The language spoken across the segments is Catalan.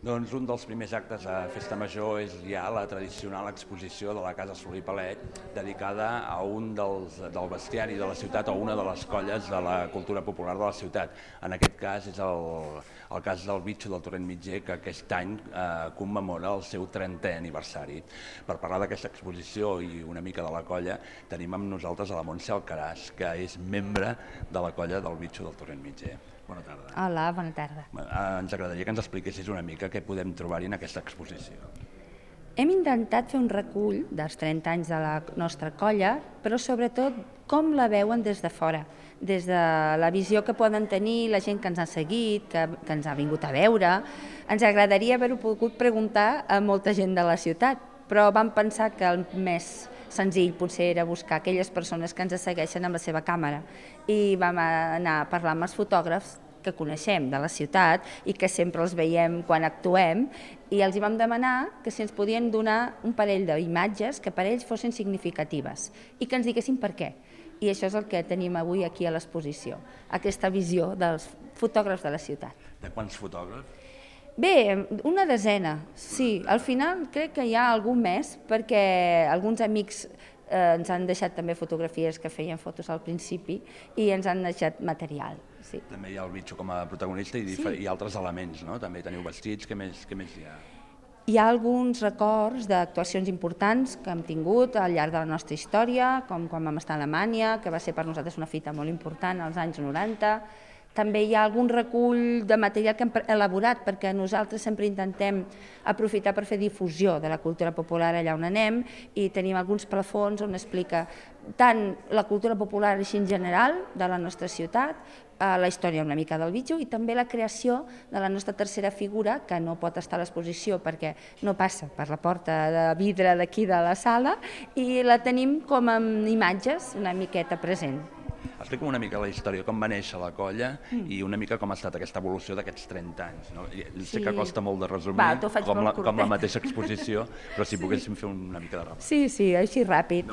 Doncs un dels primers actes a Festa Major és ja la tradicional exposició de la Casa Solé i Palet, dedicada a un del bestiari de la ciutat o una de les colles de la cultura popular de la ciutat. En aquest cas és el cas del Bitxo del Torrent Mitger, que aquest any commemora el seu 30è aniversari. Per parlar d'aquesta exposició i una mica de la colla, tenim amb nosaltres a la Montse Alcaràs, que és membre de la colla del Bitxo del Torrent Mitger. Bona tarda. Hola, bona tarda. Ens agradaria que ens expliquessis una mica què podem trobar-hi en aquesta exposició. Hem intentat fer un recull dels 30 anys de la nostra colla, però sobretot com la veuen des de fora, des de la visió que poden tenir la gent que ens ha seguit, que ens ha vingut a veure. Ens agradaria haver-ho pogut preguntar a molta gent de la ciutat, però vam pensar que el més senzill potser era buscar aquelles persones que ens segueixen amb la seva càmera i vam anar a parlar amb els fotògrafs que coneixem de la ciutat i que sempre els veiem quan actuem i els hi vam demanar que si ens podien donar un parell d'imatges que per ells fossin significatives i que ens diguessin per què. I això és el que tenim avui aquí a l'exposició, aquesta visió dels fotògrafs de la ciutat. De quants fotògrafs? Bé, una desena, sí. Al final crec que hi ha algun més perquè alguns amics ens han deixat també fotografies que feien fotos al principi i ens han deixat material. Sí. També hi ha el Bitxo com a protagonista i altres elements, no? També teniu vestits, què més hi ha? Hi ha alguns records d'actuacions importants que hem tingut al llarg de la nostra història, com quan vam estar a Alemanya, que va ser per nosaltres una fita molt important als anys 90. També hi ha algun recull de material que hem elaborat perquè nosaltres sempre intentem aprofitar per fer difusió de la cultura popular allà on anem i tenim alguns plafons on explica tant la cultura popular així en general de la nostra ciutat, la història una mica del Bitxo i també la creació de la nostra tercera figura que no pot estar a l'exposició perquè no passa per la porta de vidre d'aquí de la sala i la tenim com amb imatges una miqueta present. Explica'm una mica la història, com va néixer la colla i una mica com ha estat aquesta evolució d'aquests 30 anys. Sé que costa molt de resumir, com la mateixa exposició, però si poguéssim fer una mica de repàs. Sí, així ràpid.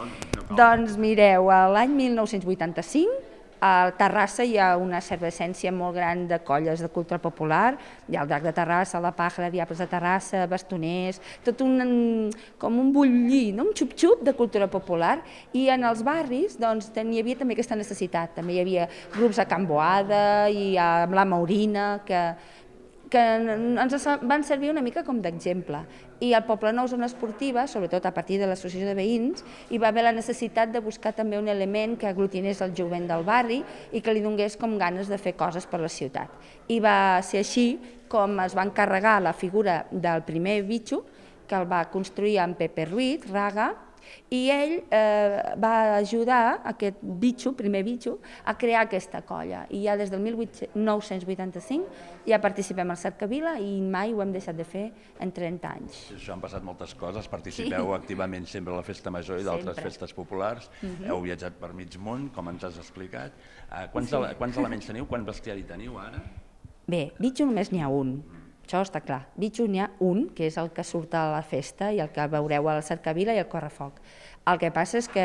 Doncs mireu, l'any 1985 a Terrassa hi ha una efervescència molt gran de colles de cultura popular, hi ha el Drac de Terrassa, la Pàjara, Diables de Terrassa, Bastoners, tot com un bullir, un xup-xup de cultura popular i en els barris hi havia també aquesta necessitat, també hi havia grups a Can Boada i amb la Maurina que ens van servir una mica com d'exemple. I al Poblenou Zona Esportiva, sobretot a partir de l'associació de veïns, hi va haver la necessitat de buscar també un element que aglutinés el jovent del barri i que li donés com ganes de fer coses per la ciutat. I va ser així com es va encarregar la figura del primer Bitxo, que el va construir en Pepe Ruiz, Raga, i ell va ajudar aquest Bitxo, primer Bitxo, a crear aquesta colla. I ja des del 1985 ja participem al Cercavila i mai ho hem deixat de fer en 30 anys. Això han passat moltes coses, participeu activament sempre a la Festa Major i d'altres festes populars, heu viatjat per mig món, com ens has explicat. Quants elements teniu, quant bestiari teniu ara? Bé, Bitxo només n'hi ha un. Això està clar. Bitxo n'hi ha un, que és el que surt a la festa i el que veureu a la Cercavila i al Correfoc. El que passa és que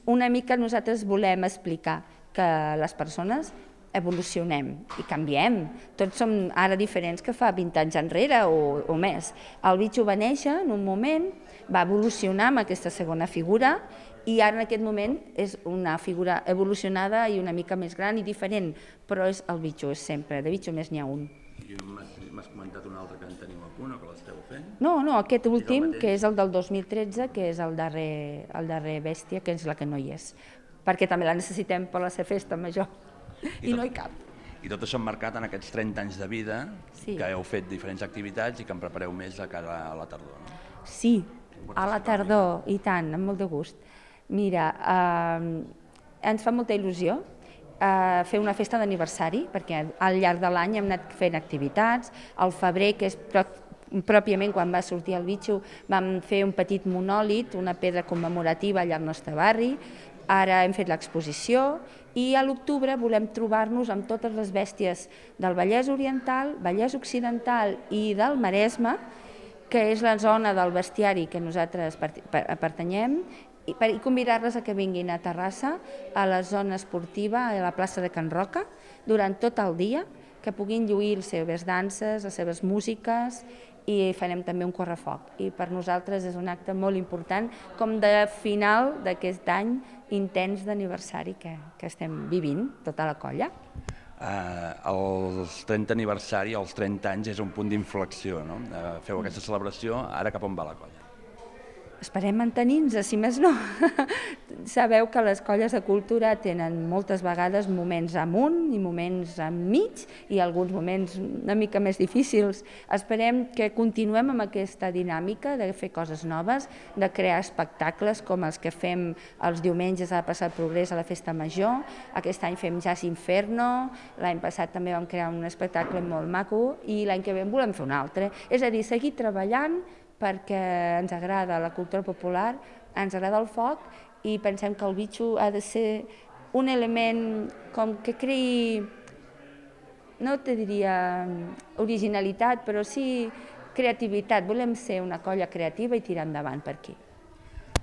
una mica nosaltres volem explicar que les persones evolucionem i canviem. Tots som ara diferents que fa 20 anys enrere o més. El Bitxo va néixer en un moment, va evolucionar amb aquesta segona figura i ara en aquest moment és una figura evolucionada i una mica més gran i diferent, però és el Bitxo, és sempre. De Bitxo més n'hi ha un. I m'has comentat un altre que en teniu a punt o que l'esteu fent? No, aquest últim, que és el del 2013, que és el darrer bèstia, que és la que no hi és, perquè també la necessitem per la seva festa major, i no hi cap. I tot això emmarcat en aquests 30 anys de vida, que heu fet diferents activitats i que en prepareu més de cara a la tardor, no? Sí, a la tardor, i tant, amb molt de gust. Mira, ens fa molta il·lusió fer una festa d'aniversari, perquè al llarg de l'any hem anat fent activitats. Al febrer, que és pròpiament quan va sortir el Bitxo, vam fer un petit monòlit, una pedra commemorativa allà al nostre barri. Ara hem fet l'exposició i a l'octubre volem trobar-nos amb totes les bèsties del Vallès Oriental, Vallès Occidental i del Maresme, que és la zona del bestiari que nosaltres pertanyem, i convidar-les a que vinguin a Terrassa, a la zona esportiva, a la plaça de Can Roca, durant tot el dia, que puguin lluir les seves danses, les seves músiques, i farem també un correfoc. I per nosaltres és un acte molt important, com de final d'aquest any intens d'aniversari que estem vivint, tota la colla. Els 30 aniversari, els 30 anys, és un punt d'inflexió, no? Feu aquesta celebració, ara cap on va la colla? Esperem mantenir-nos, si més no. Sabeu que les colles de cultura tenen moltes vegades moments amunt i moments enmig i alguns moments una mica més difícils. Esperem que continuem amb aquesta dinàmica de fer coses noves, de crear espectacles com els que fem els diumenges a la Plaça del Progrés a la Festa Major. Aquest any fem Jazz Inferno, l'any passat també vam crear un espectacle molt maco i l'any que ve en volem fer un altre. És a dir, seguir treballant perquè ens agrada la cultura popular, ens agrada el foc i pensem que el bitxo ha de ser un element com que creï, no te diria originalitat, però sí creativitat. Volem ser una colla creativa i tirar endavant per aquí.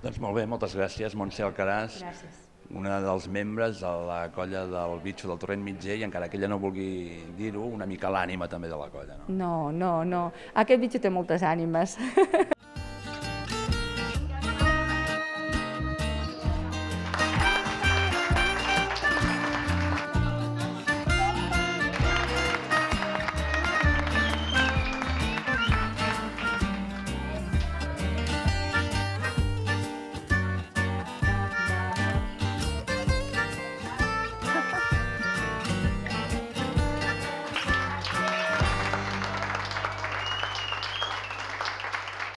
Doncs molt bé, moltes gràcies, Montse Alcaraz. Gràcies. Una dels membres de la colla del bitxo del Torrent Mitger i encara que ella no vulgui dir-ho, una mica l'ànima també de la colla, no? No. Aquest bitxo té moltes ànimes.